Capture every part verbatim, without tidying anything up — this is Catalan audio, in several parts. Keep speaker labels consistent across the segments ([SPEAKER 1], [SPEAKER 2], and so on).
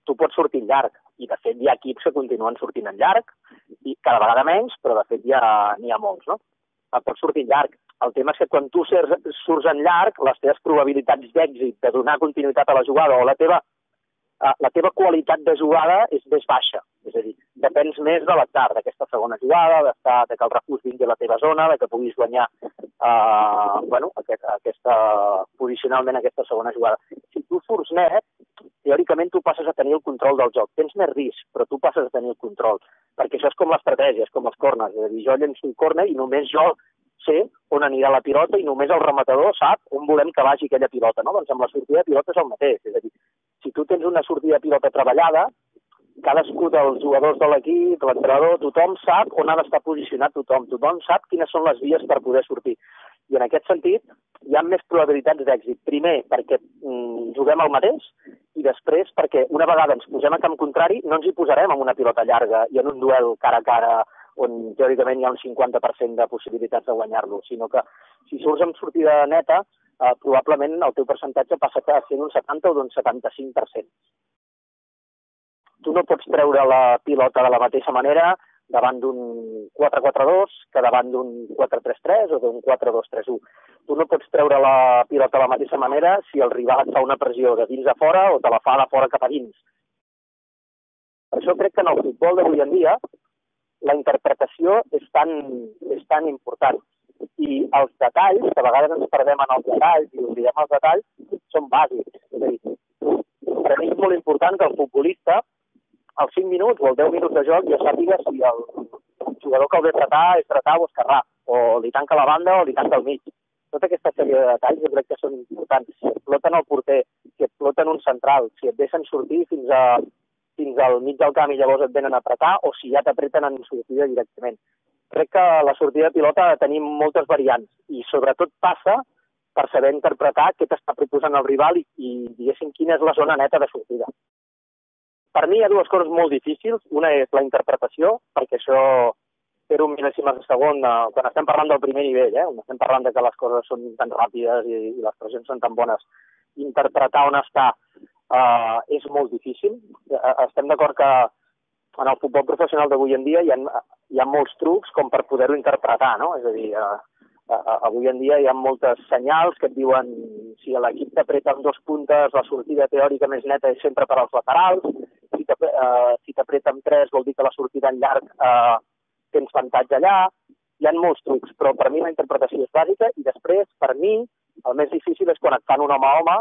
[SPEAKER 1] tu pots sortir en llarg, i de fet hi ha equips que continuen sortint en llarg, i cada vegada menys, però de fet ja n'hi ha molts, no? Pots sortir en llarg. El tema és que quan tu surts en llarg, les teves probabilitats d'èxit, de donar continuïtat a la jugada, o la teva, la teva qualitat de jugada és més baixa. És a dir, depens més de l'atzar, d'aquesta segona jugada, de que el refús vingui a la teva zona, de que puguis guanyar eh, bueno, aquest, aquesta, posicionalment aquesta segona jugada. Si tu surts net, teòricament tu passes a tenir el control del joc. Tens més risc, però tu passes a tenir el control. Perquè això és com l'estratègia, és com els corners. És a dir, jo llenço un corner i només jo sé on anirà la pilota i només el rematador sap on volem que vagi aquella pilota, no? Doncs amb la sortida de pilota és el mateix. És a dir, si tu tens una sortida de pilota treballada, cadascú dels jugadors de l'equip, l'entrenador, tothom sap on ha d'estar posicionat tothom, tothom sap quines són les vies per poder sortir. I en aquest sentit hi ha més probabilitats d'èxit. Primer, perquè mm, juguem el mateix, i després perquè una vegada ens posem a camp contrari no ens hi posarem amb una pilota llarga i en un duel cara a cara on teòricament hi ha un cinquanta per cent de possibilitats de guanyar-lo, sinó que si surts amb sortida neta, eh, probablement el teu percentatge passa a ser un setanta o d'un setanta-cinc per cent. Tu no pots treure la pilota de la mateixa manera davant d'un quatre quatre dos que davant d'un quatre tres tres o d'un quatre dos tres u. Tu no pots treure la pilota de la mateixa manera si el rival et fa una pressió de dins a fora o te la fa de fora cap a dins. Per això crec que en el futbol d'avui en dia la interpretació és tan, és tan important. I els detalls, que a vegades ens perdem en els detalls i oblidem els detalls, són bàsics. És a dir, per mi és molt important que el futbolista, als cinc minuts o als deu minuts de joc, ja sàpiga si el jugador que el ve tratar és tratar o esquerrà, o li tanca la banda o li tanca el mig. Tota aquesta sèrie de detalls jo crec que són importants. Si et floten el porter, si et floten un central, si et deixen sortir fins a fins al mig del camp i llavors et venen a apretar, o si ja t'apreten en sortida directament. Crec que la sortida de pilota tenim moltes variants i sobretot passa per saber interpretar què t'està proposant el rival i, i diguéssim, quina és la zona neta de sortida. Per mi hi ha dues coses molt difícils. Una és la interpretació, perquè això fer un mil·lèsimes de segon, eh, quan estem parlant del primer nivell, eh, on estem parlant de que les coses són tan ràpides i, i les pressions són tan bones, interpretar on està Uh, és molt difícil. Uh, estem d'acord que en el futbol professional d'avui en dia hi ha, hi ha molts trucs com per poder-ho interpretar, no? És a dir, uh, uh, avui en dia hi ha moltes senyals que et diuen si l'equip t'apreta amb dos puntes, la sortida teòrica més neta és sempre per als laterals, si t'apreta uh, amb tres vol dir que la sortida en llarg uh, tens avantatge allà. Hi ha molts trucs, però per mi la interpretació és bàsica i després, per mi, el més difícil és quan et fan un home a home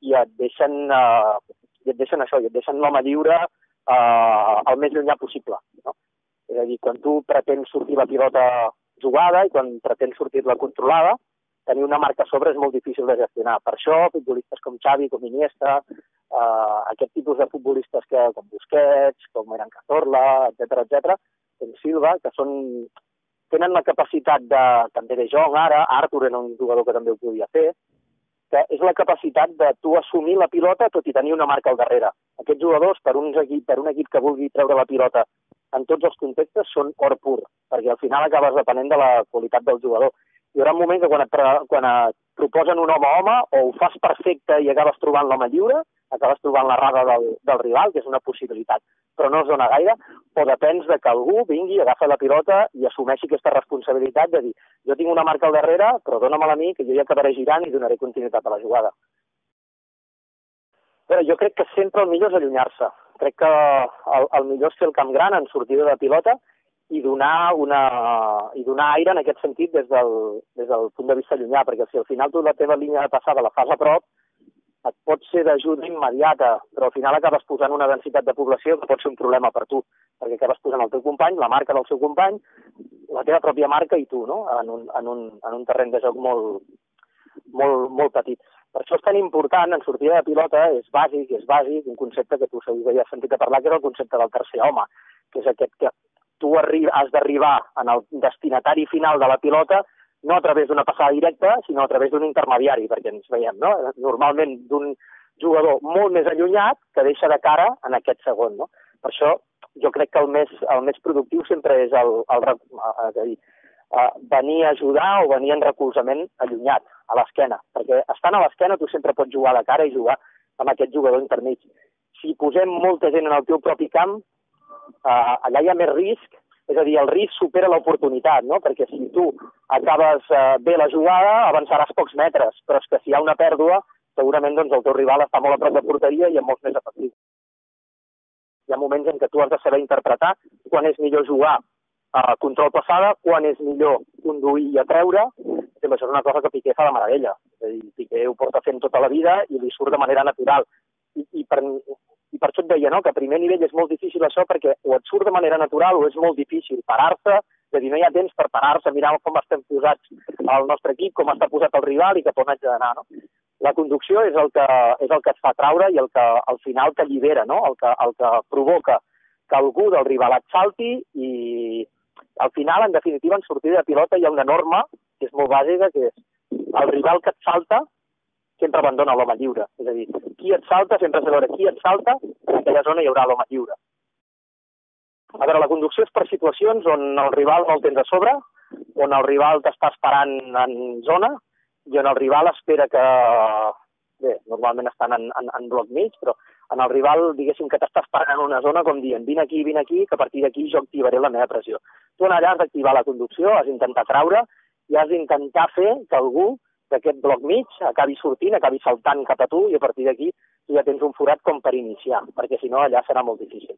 [SPEAKER 1] i et deixen, uh, i et deixen això, i et deixen l'home lliure uh, el més llunyà possible. No? És a dir, quan tu pretens sortir la pilota jugada i quan pretens sortir-la controlada, tenir una marca a sobre és molt difícil de gestionar. Per això, futbolistes com Xavi, com Iniesta, uh, aquest tipus de futbolistes que, com Busquets, com Eren Cazorla, etcètera, etcètera, com Silva, que són, tenen la capacitat de, també de Jong ara, Arthur era un jugador que també ho podia fer, que és la capacitat de tu assumir la pilota tot i tenir una marca al darrere. Aquests jugadors, per un equip, per un equip que vulgui treure la pilota en tots els contextes, són or pur, perquè al final acabes depenent de la qualitat del jugador. Hi haurà un moment que quan et, quan et proposen un home a home, o ho fas perfecte i acabes trobant l'home lliure, acabes trobant la rada del, del rival, que és una possibilitat, però no es dona gaire, o depens de que algú vingui, agafa la pilota i assumeixi aquesta responsabilitat de dir jo tinc una marca al darrere, però dóna-me-la a mi, que jo ja acabaré girant i donaré continuïtat a la jugada. Però jo crec que sempre el millor és allunyar-se. Crec que el, el millor és fer el camp gran en sortida de pilota i donar, una, i donar aire en aquest sentit des del, des del punt de vista llunyà, perquè si al final tu la teva línia de passada la fas a prop, et pot ser d'ajuda immediata, però al final acabes posant una densitat de població que pot ser un problema per tu, perquè acabes posant el teu company, la marca del seu company, la teva pròpia marca i tu, no? en, un, en, un, en un terreny de joc molt, molt, molt petit. Per això és tan important, en sortida de pilota, és bàsic, és bàsic, un concepte que tu segur que ja has sentit a parlar, que és el concepte del tercer home, que és aquest que tu has d'arribar en el destinatari final de la pilota no a través d'una passada directa, sinó a través d'un intermediari, perquè ens veiem, no? Normalment d'un jugador molt més allunyat que deixa de cara en aquest segon, no? Per això jo crec que el més, el més productiu sempre és el, el, és a dir, venir a ajudar o venir en recolzament allunyat, a l'esquena, perquè estant a l'esquena tu sempre pots jugar a la cara i jugar amb aquest jugador intermig. si posem molta gent en el teu propi camp, eh, allà hi ha més risc, és a dir, el risc supera l'oportunitat, no? Perquè si tu acabes eh, bé la jugada, avançaràs pocs metres, però és que si hi ha una pèrdua, segurament doncs, el teu rival està molt a prop de porteria i amb molts més efectius. Hi ha moments en què tu has de saber interpretar quan és millor jugar a control passada, quan és millor conduir i atreure. Això és una cosa que Piqué fa de meravella. És a dir, Piqué ho porta fent tota la vida i li surt de manera natural. I, i, per, i per això et deia, no?, que a primer nivell és molt difícil això perquè o et surt de manera natural o és molt difícil parar-se, és a dir, no hi ha temps per parar-se, mirar com estem posats al nostre equip, com està posat el rival i cap on haig d'anar, no? La conducció és el que, és el que et fa traure i el que al final t'allibera, no? El que, el que provoca que algú del rival et salti i al final, en definitiva, en sortida de pilota hi ha una norma que és molt bàsica, que és el rival que et salta sempre abandona l'home lliure. És a dir, qui et salta, sempre has de veure qui et salta, en aquella zona hi haurà l'home lliure. A veure, la conducció és per situacions on el rival no el tens a sobre, on el rival t'està esperant en zona, i on el rival espera que... Bé, normalment estan en, en, en bloc mig, però en el rival, diguéssim, que t'està esperant en una zona com dient, vine aquí, vine aquí, que a partir d'aquí jo activaré la meva pressió. Tu en allà has d'activar la conducció, has d'intentar traure i has d'intentar fer que algú d'aquest bloc mig acabi sortint, acabi saltant cap a tu i a partir d'aquí tu ja tens un forat com per iniciar, perquè si no allà serà molt difícil.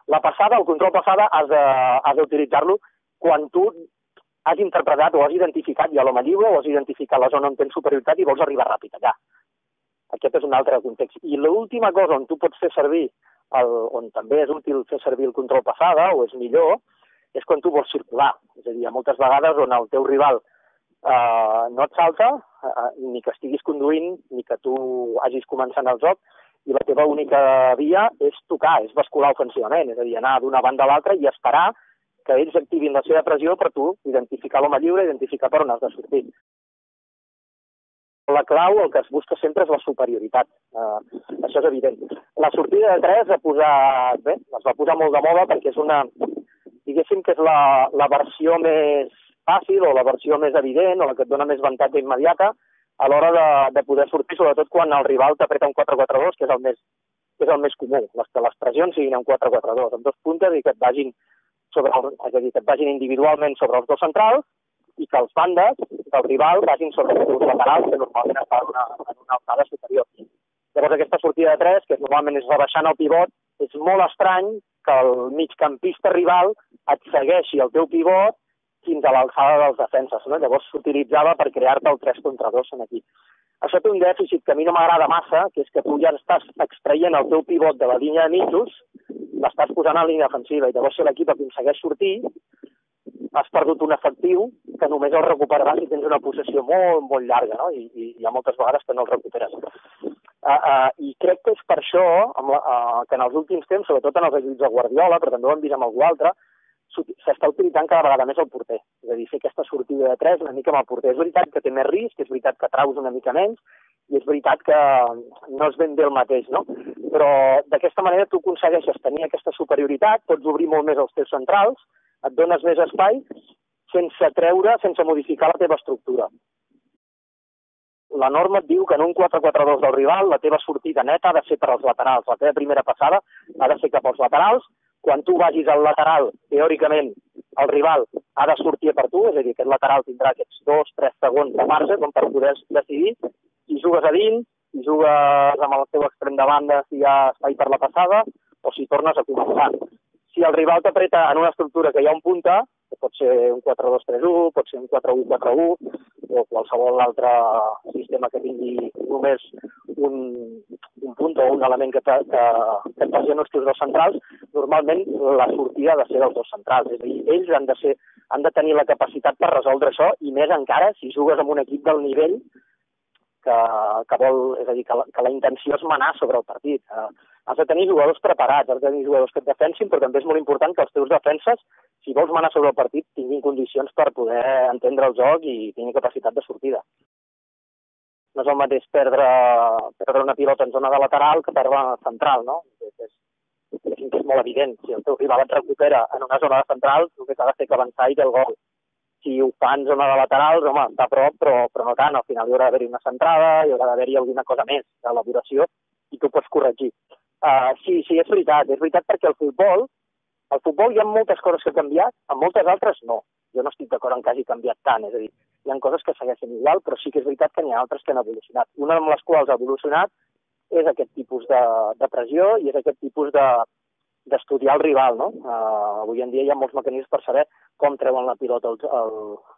[SPEAKER 1] La passada, el control passada, has d'utilitzar-lo quan tu has interpretat o has identificat ja l'home lliure o has identificat la zona on tens superioritat i vols arribar ràpid allà. Aquest és un altre context. I l'última cosa on tu pots fer servir, el, on també és útil fer servir el control passada, o és millor, és quan tu vols circular. És a dir, hi ha moltes vegades on el teu rival eh, no et salta, eh, ni que estiguis conduint, ni que tu hagis començant el joc, i la teva única via és tocar, és bascular ofensivament, és a dir, anar d'una banda a l'altra i esperar que ells activin la seva pressió per tu identificar l'home lliure, identificar per on has de sortir. La clau, el que es busca sempre és la superioritat. Uh, això és evident. La sortida de tres ha posat, bé, es va posar molt de moda perquè és una, diguéssim que és la, la versió més fàcil o la versió més evident o la que et dona més avantatge immediata a l'hora de, de poder sortir, sobretot quan el rival t'apreta un quatre quatre dos, que és el més, que és el més comú, les, que les pressions siguin un quatre quatre dos, amb dos puntes i que et vagin, sobre el, és a dir, que et vagin individualment sobre els dos centrals i que els bandes del rival vagin sobre els seus laterals, que normalment estan en una, en una alçada superior. Llavors aquesta sortida de tres, que normalment és rebaixant el pivot, és molt estrany que el migcampista rival et segueixi el teu pivot fins a l'alçada dels defenses, no? Llavors s'utilitzava per crear-te el tres contra dos en aquí. Això té un dèficit que a mi no m'agrada massa, que és que tu ja estàs extraient el teu pivot de la línia de mitjos, l'estàs posant a la línia defensiva, i llavors si l'equip aconsegueix sortir, has perdut un efectiu que només el recuperaràs si tens una possessió molt, molt llarga, no? I, i hi ha moltes vegades que no el recuperes. Uh, uh, I crec que és per això amb la, uh, que en els últims temps, sobretot en els equips de Guardiola, però també ho hem vist amb algú altre, s'està utilitzant cada vegada més el porter. És a dir, fer aquesta sortida de tres una mica amb el porter. És veritat que té més risc, és veritat que traus una mica menys, i és veritat que no és ben bé el mateix, no? Però d'aquesta manera tu aconsegueixes tenir aquesta superioritat, pots obrir molt més els teus centrals, et dones més espai sense treure, sense modificar la teva estructura. La norma et diu que en un quatre quatre dos del rival la teva sortida neta ha de ser per als laterals. La teva primera passada ha de ser cap als laterals. Quan tu vagis al lateral, teòricament, el rival ha de sortir per tu, és a dir, aquest lateral tindrà aquests dos, tres segons de marge com per poder decidir si jugues a dins, si jugues amb el teu extrem de banda, si hi ha espai per la passada, o si tornes a començar. Si el rival t'apreta en una estructura que hi ha un punta, que pot ser un quatre dos tres u, pot ser un quatre u quatre u, o qualsevol altre sistema que tingui només un, un punt o un element que, te, que, que et passi en els teus dos centrals, normalment la sortida ha de ser dels dos centrals. És a dir, ells han de, ser, han de tenir la capacitat per resoldre això, i més encara si jugues amb un equip del nivell que, que vol, és a dir, que la, que la intenció és manar sobre el partit. Eh, has de tenir jugadors preparats, has de tenir jugadors que et defensin, però també és molt important que els teus defenses, si vols manar sobre el partit, tinguin condicions per poder entendre el joc i tinguin capacitat de sortida. No és el mateix perdre, perdre una pilota en zona de lateral que perdre central, no? És, és, és molt evident. Si el teu rival et recupera en una zona de central, el que s'ha de fer que avançar i té el gol. Si ho fa en zona de laterals, home, està a prop, però, però no tant. Al final hi haurà d'haver-hi una centrada, hi haurà d'haver-hi alguna cosa més d'elaboració i tu pots corregir. Uh, sí, sí, és veritat, és veritat perquè el futbol, el futbol hi ha moltes coses que han canviat, en moltes altres no. Jo no estic d'acord en que hagi canviat tant, és a dir, hi ha coses que segueixen igual, però sí que és veritat que n'hi ha altres que han evolucionat. Una de les quals ha evolucionat és aquest tipus de, de pressió i és aquest tipus de d'estudiar el rival, no? Uh, avui en dia hi ha molts mecanismes per saber com treuen la pilota el, el,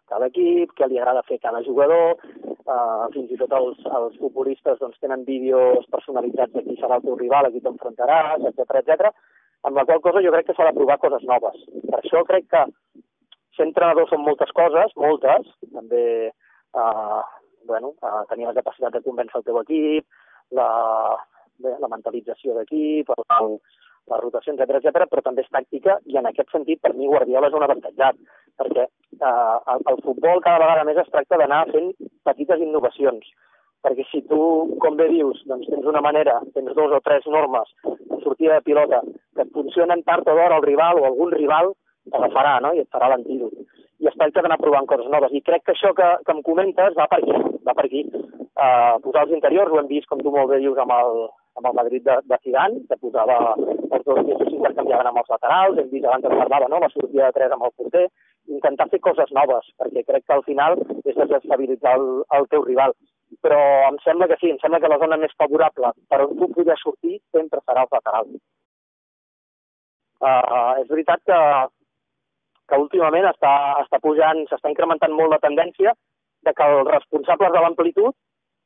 [SPEAKER 1] cada equip, què li agrada fer cada jugador, uh, fins i tot els, els futbolistes doncs, tenen vídeos personalitzats de qui serà el teu rival, a qui t'enfrontaràs, etcètera, etcètera, amb la qual cosa jo crec que s'ha de provar coses noves. Per això crec que ser entrenador són moltes coses, moltes, també uh, bueno, uh, tenir la capacitat de convèncer el teu equip, la, bé, la mentalització d'equip, el, les rotacions, etcètera, etcètera, però també és tàctica i en aquest sentit per mi Guardiola és un avantatjat, perquè eh, el, el futbol cada vegada més es tracta d'anar fent petites innovacions, perquè si tu, com bé dius, doncs tens una manera, tens dos o tres normes de sortida de pilota que et funcionen tard o d'hora el rival o algun rival t'agafarà, no? I et farà l'antídot. I es tracta d'anar provant coses noves. I crec que això que, que em comentes va per aquí, va per aquí. Uh, posar els interiors, ho hem vist, com tu molt bé dius, amb el, amb el Madrid de, de Zidane, que posava els dos pisos s'intercanviaven amb els laterals, hem vist abans que parlava, no?, la sortida de tres amb el porter, intentar fer coses noves, perquè crec que al final és desestabilitzar el, el teu rival. Però em sembla que sí, em sembla que la zona més favorable per on tu podries sortir sempre serà els laterals. Uh, és veritat que, que últimament està, està pujant, s'està incrementant molt la tendència de que els responsables de l'amplitud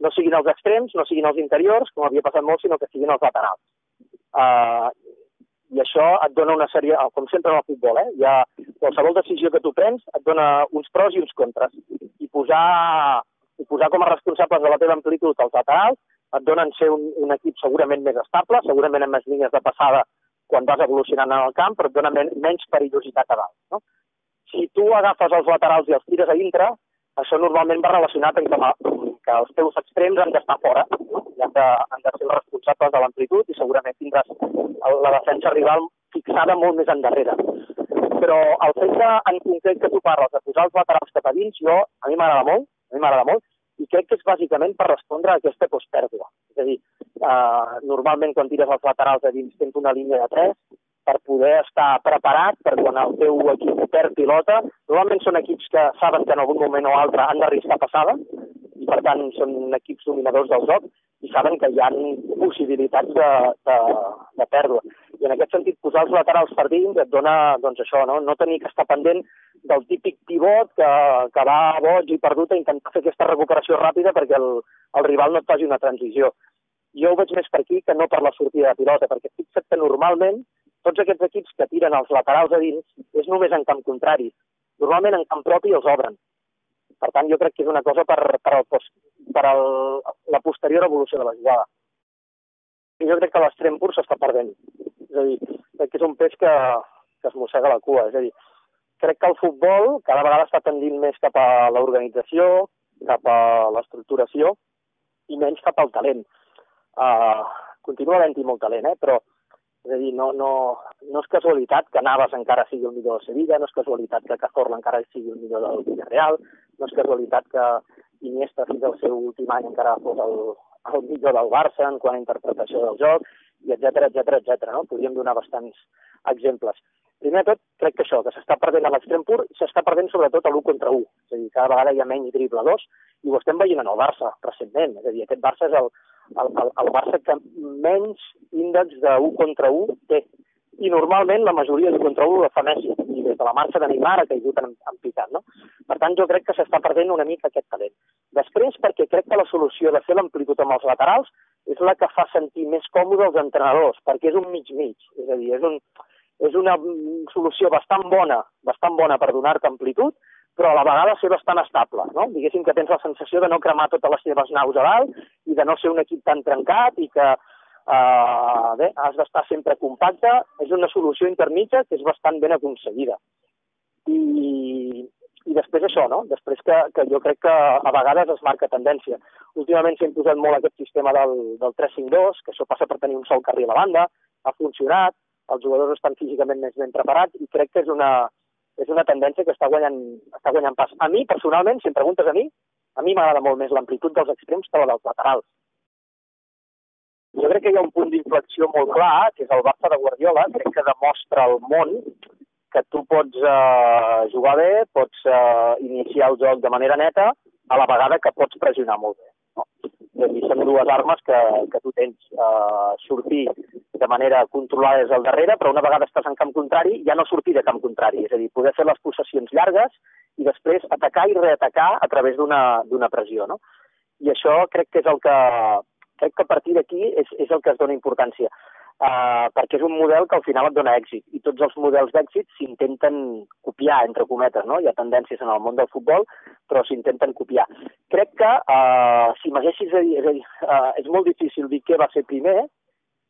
[SPEAKER 1] no siguin els extrems, no siguin els interiors, com havia passat molt, sinó que siguin els laterals. Uh, I això et dona una sèrie, com sempre en el futbol, eh? Hi ha qualsevol decisió que tu prens et dona uns pros i uns contres. I posar, i posar com a responsables de la teva amplitud els laterals et donen ser un, un equip segurament més estable, segurament amb més línies de passada quan vas evolucionant en el camp, però et dona men menys perillositat a dalt, no? Si tu agafes els laterals i els tires a dintre, això normalment va relacionat amb que els teus extrems han d'estar fora, no? I han de, han de ser els responsables de l'amplitud i segurament tindràs la defensa rival fixada molt més endarrere. Però el fet que, en concret que tu parles de posar els laterals cap a dins, jo, a mi m'agrada molt, a mi m'agrada molt, i crec que és bàsicament per respondre a aquesta postpèrdua. És a dir, eh, normalment quan tires els laterals a dins tens una línia de tres per poder estar preparat per quan el teu equip perd pilota. Normalment són equips que saben que en algun moment o altre han d'arriscar passada i per tant són equips dominadors del joc i saben que hi ha possibilitats de, de, de pèrdua. I en aquest sentit, posar els laterals per dins et dona doncs, això, no? No tenir que estar pendent del típic pivot que, que va boig i perdut a intentar fer aquesta recuperació ràpida perquè el, el rival no et faci una transició. Jo ho veig més per aquí que no per la sortida de pilota, perquè fixa't que normalment tots aquests equips que tiren els laterals a dins és només en camp contrari. Normalment en camp propi els obren. Per tant, jo crec que és una cosa per, per, el, per el, la posterior evolució de la jugada. I jo crec que l'extrem pur s'està perdent. És a dir, crec que és un peix que, que es mossega la cua. És a dir, crec que el futbol cada vegada està tendint més cap a l'organització, cap a l'estructuració i menys cap al talent. Uh, continua havent-hi molt talent, eh? Però és a dir, no, no, no és casualitat que Navas encara sigui el millor de Sevilla, no és casualitat que Cazorla encara sigui el millor del Villarreal, no és casualitat que Iniesta fins al seu últim any encara fos el, el millor del Barça en quant a interpretació del joc, i etcètera, etcètera, etcètera, no? Podríem donar bastants exemples. Primer de tot, crec que això, que s'està perdent a l'extrem pur, s'està perdent sobretot a l'u contra u. És a dir, cada vegada hi ha menys dribladors, i ho estem veient en el Barça recentment. És a dir, aquest Barça és el, el, el, el Barça que menys índex de u contra u té. I normalment la majoria de contra u la fa Messi, i des de la marxa de Neymar ha caigut en, en picat, no? Per tant, jo crec que s'està perdent una mica aquest talent. Després, perquè crec que la solució de fer l'amplitud amb els laterals és la que fa sentir més còmode els entrenadors, perquè és un mig-mig, és a dir, és, un, és una solució bastant bona, bastant bona per donar-te amplitud, però a la vegada ser bastant estable, no? Diguéssim que tens la sensació de no cremar totes les teves naus a dalt i de no ser un equip tan trencat i que Uh, bé, has d'estar sempre compacte. És una solució intermitja que és bastant ben aconseguida. I, i després això, no? Després que, que jo crec que a vegades es marca tendència. Últimament s'ha imposat molt aquest sistema del, del tres cinc dos, que això passa per tenir un sol carril a la banda, ha funcionat, els jugadors estan físicament més ben preparats i crec que és una, és una tendència que està guanyant, està guanyant pas. A mi, personalment, si em preguntes a mi, a mi m'agrada molt més l'amplitud dels extrems que la dels laterals. jo crec que hi ha un punt d'inflexió molt clar, que és el Barça de Guardiola, crec que demostra al món que tu pots eh, jugar bé, pots eh, iniciar el joc de manera neta, a la vegada que pots pressionar molt bé. No? I són dues armes que, que tu tens. Eh, sortir de manera controlada des del darrere, però una vegada estàs en camp contrari, ja no sortir de camp contrari. És a dir, poder fer les possessions llargues i després atacar i reatacar a través d'una pressió. No? I això crec que és el que... Crec que a partir d'aquí és, és el que es dona importància. Uh, perquè és un model que al final et dona èxit. I tots els models d'èxit s'intenten copiar, entre cometes, no? Hi ha tendències en el món del futbol, però s'intenten copiar. Crec que, uh, si m'haguessis de dir... És a dir, uh, és molt difícil dir què va ser primer.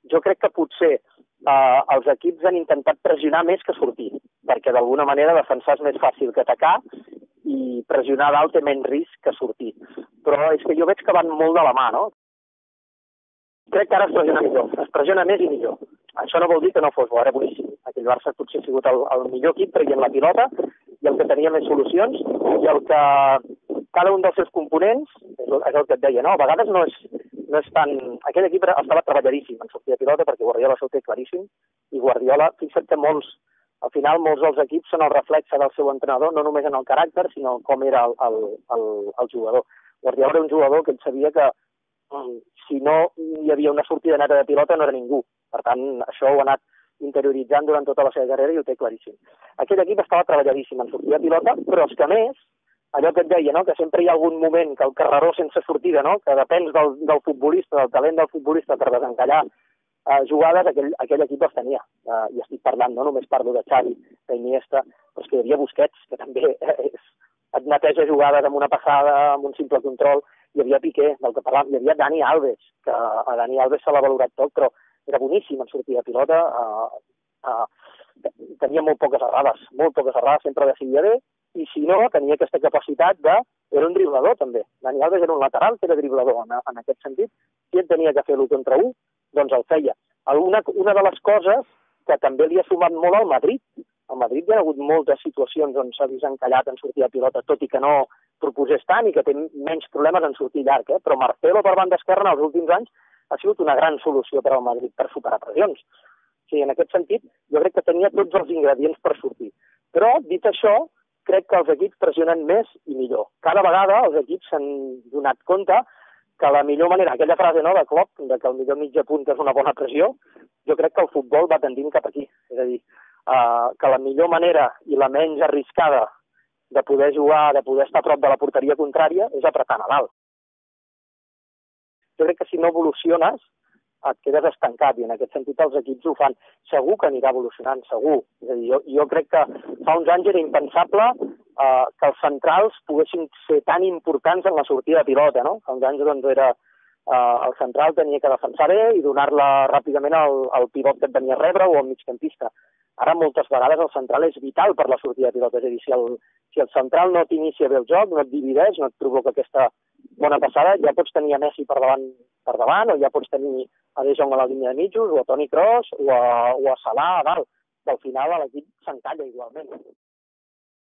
[SPEAKER 1] Jo crec que potser uh, els equips han intentat pressionar més que sortir, perquè d'alguna manera defensar és més fàcil que atacar i pressionar dalt té menys risc que sortir. Però és que jo veig que van molt de la mà, no? Crec que ara es pressiona millor, es pressiona més i millor. Això no vol dir que no fos bo, era boníssim. Aquell Barça potser ha sigut el, el millor equip traient la pilota i el que tenia més solucions i el que cada un dels seus components, és el, és el que et deia, no? A vegades no és, no és tan... Aquell equip estava treballadíssim en sortir de pilota perquè Guardiola s'ho té claríssim i Guardiola, fixa't que molts, al final molts dels equips són el reflexe del seu entrenador, no només en el caràcter, sinó com era el, el, el, el jugador. Guardiola era un jugador que ell sabia que si no hi havia una sortida neta de pilota no era ningú. Per tant, això ho ha anat interioritzant durant tota la seva carrera i ho té claríssim. Aquell equip estava treballadíssim en sortir de pilota, però és que a més, allò que et deia, no? Que sempre hi ha algun moment que el carreró sense sortida, no? Que depèn del, del futbolista, del talent del futbolista per desencallar eh, jugades, aquell, aquell equip els tenia. Eh, I estic parlant, no només parlo de Xavi, d'Iniesta, però és que hi havia Busquets, que també és, et neteja jugades amb una passada, amb un simple control. Hi havia Piqué, del que parlàvem, hi havia Dani Alves, que a Dani Alves se l'ha valorat tot, però era boníssim en sortir de pilota, uh, uh, tenia molt poques errades, molt poques errades, sempre decidia bé, i si no, tenia aquesta capacitat de... Era un driblador, també. Dani Alves era un lateral que era driblador, en, en aquest sentit. Si ell tenia que fer l'u contra u, doncs el feia. Una, una de les coses que també li ha sumat molt al Madrid. Al Madrid hi ha hagut moltes situacions on s'ha vist encallat en sortir de pilota, tot i que no proposés tant i que té menys problemes en sortir llarg, eh? Però Marcelo per banda esquerra en els últims anys ha sigut una gran solució per al Madrid per superar pressions. O sigui, en aquest sentit, jo crec que tenia tots els ingredients per sortir. Però, dit això, crec que els equips pressionen més i millor. Cada vegada els equips s'han donat compte que la millor manera, aquella frase no, de Klopp, de que el millor mitja punta és una bona pressió, jo crec que el futbol va tendint cap aquí. És a dir, uh, que la millor manera i la menys arriscada de poder jugar, de poder estar a prop de la porteria contrària, és apretant a dalt. Jo crec que si no evoluciones, et quedes estancat, i en aquest sentit els equips ho fan. Segur que anirà evolucionant, segur. És a dir, jo, jo crec que fa uns anys era impensable eh, que els centrals poguessin ser tan importants en la sortida de pilota, no? Fa uns anys doncs, era eh, el central tenia que defensar bé i donar-la ràpidament al, al pivot que et venia a rebre o al migcampista. Ara moltes vegades el central és vital per la sortida de pilota, és a dir, si el, si el central no t'inicia bé el joc, no et divideix, no et provoca aquesta bona passada, ja pots tenir a Messi per davant, per davant o ja pots tenir a De Jong a la línia de mitjos, o a Toni Kroos, o a, o a Salah a dalt. Que al final l'equip s'encalla igualment.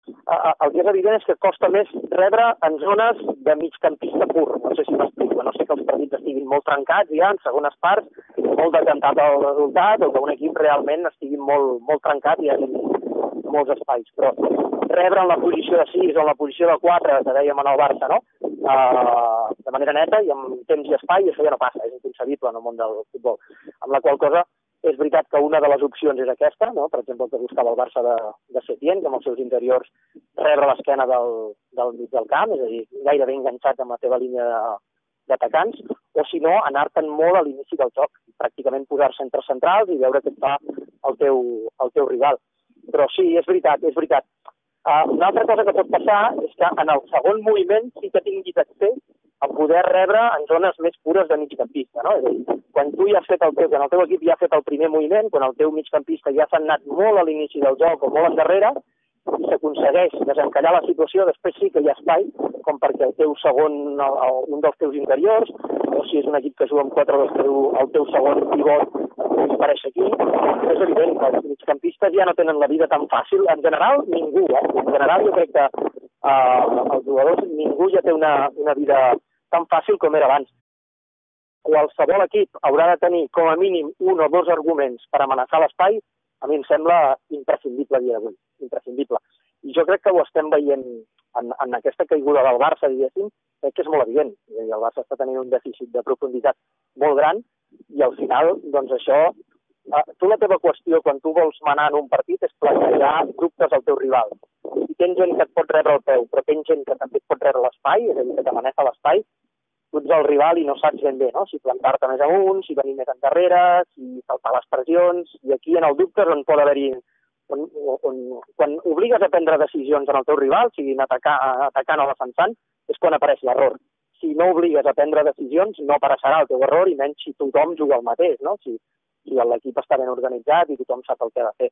[SPEAKER 1] El que és evident és que costa més rebre en zones de migcampista pur. No sé si m'explico, no sé que els partits estiguin molt trencats ja en segones parts, molt decantat el resultat, o que un equip realment estigui molt, molt trencat i hi hagi molts espais. Però rebre en la posició de sis o en la posició de quatre, que dèiem en el Barça, no? Uh, de manera neta i amb temps i espai, això ja no passa, és inconcebible en el món del futbol. Amb la qual cosa és veritat que una de les opcions és aquesta, no? Per exemple, el que buscava el Barça de, de Setién, que amb els seus interiors rebre l'esquena del, del mig del camp, és a dir, gairebé enganxat amb la teva línia d'atacants, o si no, anar-te'n molt a l'inici del joc, pràcticament posar-se entre centrals i veure què et fa el teu, el teu rival. Però sí, és veritat, és veritat. Uh, una altra cosa que pot passar és que en el segon moviment sí que tinguis accés a poder rebre en zones més pures de migcampista, no? És a dir, quan tu ja has fet el teu, quan el teu equip ja ha fet el primer moviment, quan el teu migcampista ja s'ha anat molt a l'inici del joc o molt endarrere, i s'aconsegueix desencallar la situació, després sí que hi ha espai, com perquè el teu segon, un dels teus interiors, o si és un equip que juga amb quatre, el teu segon pivot pugui aparèixer aquí. És evident que els migcampistes ja no tenen la vida tan fàcil. En general, ningú, eh? En general, jo crec que eh, els jugadors, ningú ja té una, una vida tan fàcil com era abans. qualsevol equip haurà de tenir com a mínim un o dos arguments per amenaçar l'espai, a mi em sembla imprescindible a dia d'avui, imprescindible. I jo crec que ho estem veient en, en aquesta caiguda del Barça, diguéssim, crec que és molt evident. El Barça està tenint un dèficit de profunditat molt gran i al final, doncs això, eh, tu la teva qüestió quan tu vols manar en un partit és plantejar dubtes al teu rival. Si tens gent que et pot rebre el peu, però tens gent que també et pot rebre l'espai, és a dir, que t'amenaça l'espai, tu ets el rival i no saps ben bé, no? Si plantar-te més amunt, si venir més endarrere, si saltar les pressions, i aquí en el dubte on pot haver-hi, on, on, quan obligues a prendre decisions en el teu rival, siguin atacar, atacant o defensant, és quan apareix l'error. Si no obligues a prendre decisions, no apareixerà el teu error, i menys si tothom juga el mateix, no? Si, si l'equip està ben organitzat i tothom sap el que ha de fer.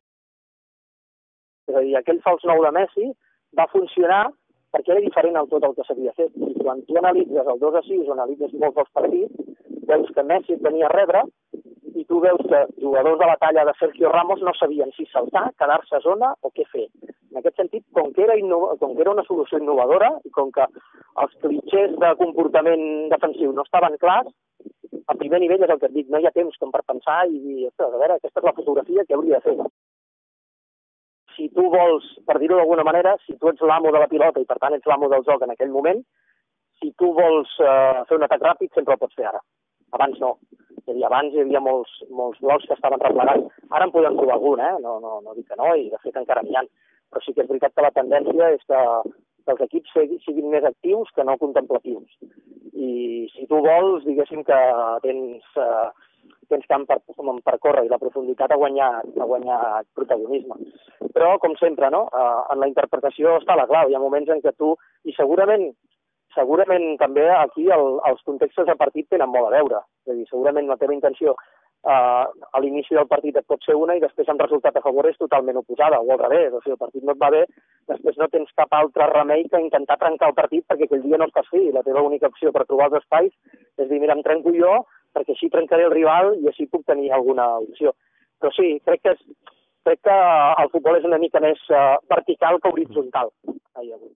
[SPEAKER 1] És a dir, aquell fals nou de Messi va funcionar perquè era diferent al tot el que s'havia fet. I quan tu analitzes el dos a sis o analitzes molts dels partits, veus que Messi et venia a rebre i tu veus que jugadors de la talla de Sergio Ramos no sabien si saltar, quedar-se a zona o què fer. En aquest sentit, com que era, innova... com que era una solució innovadora i com que els clitxers de comportament defensiu no estaven clars, a primer nivell és el que et dic, no hi ha temps com per pensar i dir, ostres, a veure, aquesta és la fotografia que hauria de fer. Si tu vols, per dir-ho d'alguna manera, si tu ets l'amo de la pilota i per tant ets l'amo del joc en aquell moment, si tu vols eh, fer un atac ràpid sempre el pots fer ara. Abans no. És a dir, abans hi havia molts, molts blocs que estaven replegats. Ara en podem trobar algun, eh? No, no, no dic que no, i de fet encara n'hi ha. Però sí que és veritat que la tendència és que, que els equips siguin més actius que no contemplatius. I si tu vols, diguéssim que tens... Eh, tens camp per, per córrer i la profunditat a guanyar, a guanyar protagonisme. Però, com sempre, no? en la interpretació està la clau. Hi ha moments en què tu, i segurament, segurament també aquí el, els contextos de partit tenen molt a veure. És a dir, segurament la teva intenció eh, a l'inici del partit et pot ser una i després el resultat a favor és totalment oposada, o al revés. O sigui, el partit no et va bé, després no tens cap altre remei que intentar trencar el partit perquè aquell dia no estàs fi. La teva única opció per trobar els espais és dir, mira, em trenco jo, perquè així trencaré el rival i així puc tenir alguna opció. Però sí, crec que, és, crec que el futbol és una mica més uh, vertical que horitzontal. Ai, avui.